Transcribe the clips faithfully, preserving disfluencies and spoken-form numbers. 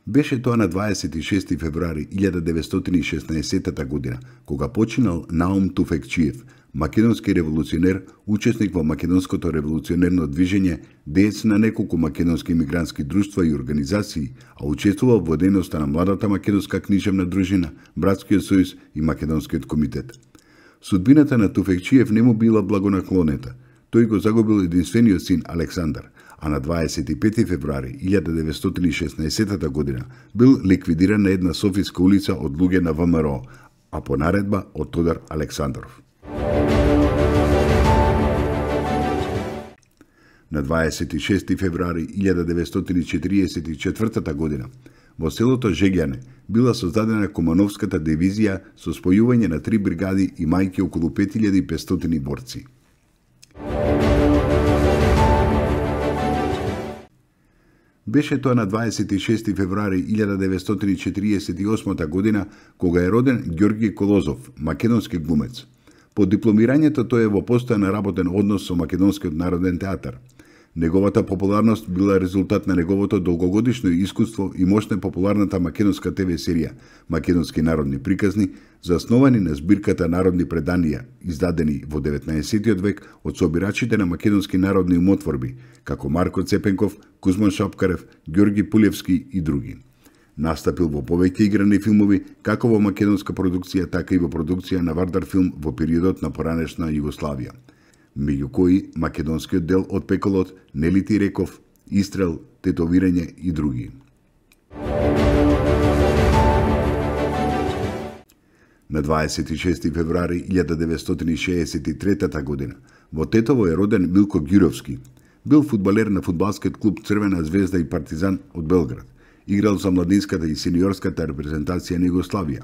Беше тоа на дваесет и шести февруари илјада деветстотини и шеснаесеттата година, кога починал Наум Туфекчиев, македонски револуционер, учесник во македонското револуционерно движење, деец на неколку македонски имигрантски друштва и организации, а учествувал во дејноста на младата македонска книжевна дружина, Братскиот сојуз и Македонскиот комитет. Судбината на Туфекчиев не му била благонаклонета. Тој го загубил единствениот син Александар, а на дваесет и пети февруари илјада деветстотини и шеснаесеттата година бил ликвидиран на една софиска улица од луѓе на ВМРО, а по наредба од Тодор Александров. На дваесет и шести февруари илјада деветстотини и четириесет и четвртата година во селото Жегјане била создадена Кумановската дивизија со спојување на три бригади и мајки околу пет илјади и петстотини борци. Беше тоа на дваесет и шести февруари илјада деветстотини и четириесет и осмата година кога е роден Ѓорги Колозов, македонски глумец. По дипломирањето тој е во постојан работен однос со Македонскиот народен театар. Неговата популарност била резултат на неговото долгогодишно искуство и мощна популарната македонска те ве серија Македонски народни приказни, засновани на збирката народни преданија, издадени во деветнаесеттиот век од собирачите на македонски народни умотворби, како Марко Цепенков, Кузман Шапкарев, Ѓорги Пулевски и други. Настапил во повеќе играни филмови, како во македонска продукција, така и во продукција на Вардар филм во периодот на поранешна Југославија, меѓу кои македонскиот дел од Пеколот, Нели ти реков, Истрел, Тетовирање и други. На дваесет и шести февруари илјада деветстотини и шеесет и третата година во Тетово е роден Милко Ѓуровски. Бил фудбалер на фудбалскиот клуб Црвена звезда и Партизан од Белград. Играл за младинската и сениорската репрезентација на Југославија,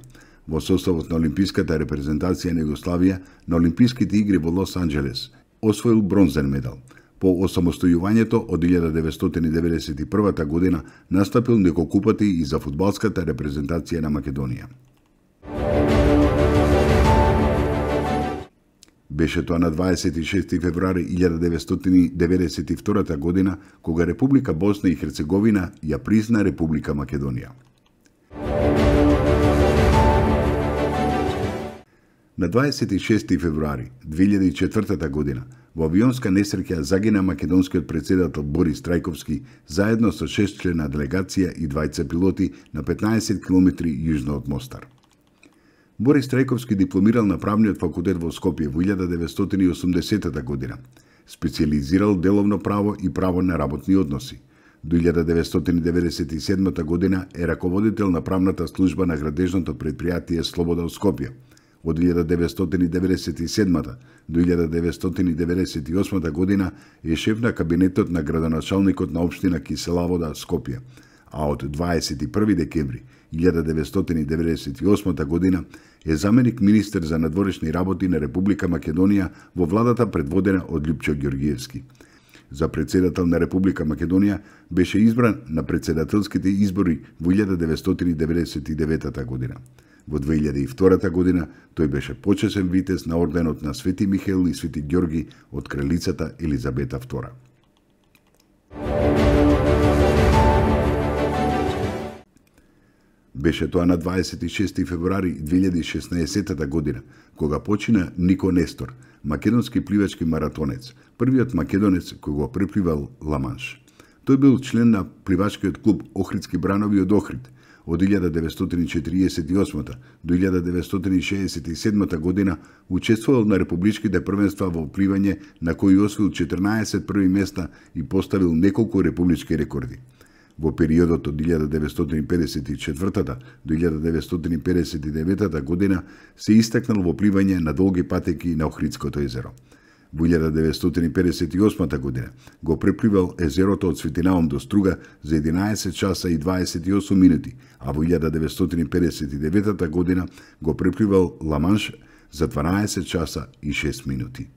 во составот на олимписката репрезентација на Југославија на Олимписките игри во Лос Анџелес. Освоил бронзен медал. По осамостојувањето од илјада деветстотини и деветдесет и првата година настапил неколку пати и за фудбалската репрезентација на Македонија. Беше тоа на дваесет и шести февруари илјада деветстотини деветдесет и втората година кога Република Босна и Херцеговина ја призна Република Македонија. На дваесет и шести февруари две илјади и четвртата година во авионска несреќа загина македонскиот претседател Борис Трајковски заедно со шест члена делегација и двајца пилоти на петнаесет километри јужно од Мостар. Борис Трајковски дипломирал на правниот факултет во Скопје во илјада деветстотини и осумдесетата година. Специјализирал деловно право и право на работни односи. До илјада деветстотини деветдесет и седмата година е раководител на правната служба на градежното предпријатие Слобода од Скопје. Од илјада деветстотини деветдесет и седмата до илјада деветстотини деветдесет и осмата година е шеф на кабинетот на градоначалникот на општина Киселавода, Скопје, а од дваесет и први декември илјада деветстотини деветдесет и осмата година е заменик министер за надворешни работи на Република Македонија во владата предводена од Љупчо Ѓоргиевски. За председател на Република Македонија беше избран на председателските избори во илјада деветстотини деветдесет и деветата година. Во две илјади и втората година тој беше почесен витез на орденот на Свети Михаил и Свети Ѓорги од кралицата Елизабета втора. Беше тоа на дваесет и шести февруари две илјади и шеснаесеттата година, кога почина Нико Нестор, македонски пливачки маратонец, првиот македонец кој го препливал Ла-Манш. Тој бил член на пливачкиот клуб Охридски бранови од Охрид. Од илјада деветстотини и четириесет и осмата до илјада деветстотини и шеесет и седмата година учествувал на републичките првенства во пливање, на кои освоил четрнаесет први места и поставил неколку републички рекорди. Во периодот од илјада деветстотини и педесет и четвртата до илјада деветстотини и педесет и деветата година се истакнал во пливање на долги патеки на Охридското езеро. Во илјада деветстотини и педесет и осмата година го препливал езерото од Светинаум до Струга за единаесет часа и дваесет и осум минути, а во илјада деветстотини и педесет и деветата година го препливал Ла-Манш за дванаесет часа и шест минути.